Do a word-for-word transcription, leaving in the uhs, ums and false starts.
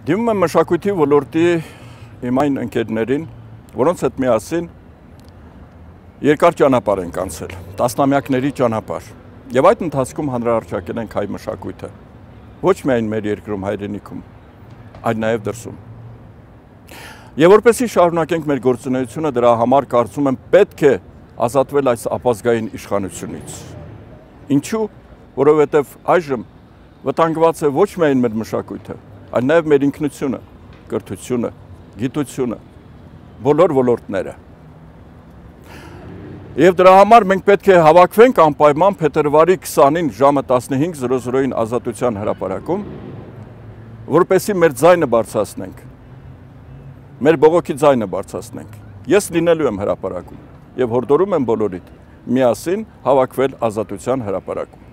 Դիմում եմ մշակույթի ոլորտի իմ այն ընկերներին, որոնց հետ միասին երկար ճանապարհ ենք անցել, տասնամյակների ճանապարհ, եւ այդ ընթացքում հանրահռչակել ենք հայ մշակույթը, ոչ միայն մեր երկրում, հայրենիքում, այլ նաեւ դրսում։ Եվ որպեսզի շարունակենք մեր գործունեությունը, դրա համար կարծում եմ պետք է ազատվել այս ապազգային իշխանությունից։ Ինչու՞, որովհետեւ այժմ վտանգված է ոչ միայն մեր մշակույթը, այլ նաև մեր ինքնությունը, կրթությունը, գիտությունը, բոլոր ոլորտները։ Եվ դրա համար մենք պետք է հավաքվենք անպայման փետրվարի քսանին ժամը տասնհինգ զրո զրոյին Ազատության հրապարակում, որպեսզի մեր ձայնը բարձրացնենք, մեր բողոքի ձայնը բարձրացնենք։ Ես լինելու եմ հրապարակում եւ հորդորում եմ բոլորիդ միասին հավաքվել Ազատության հրապարակում։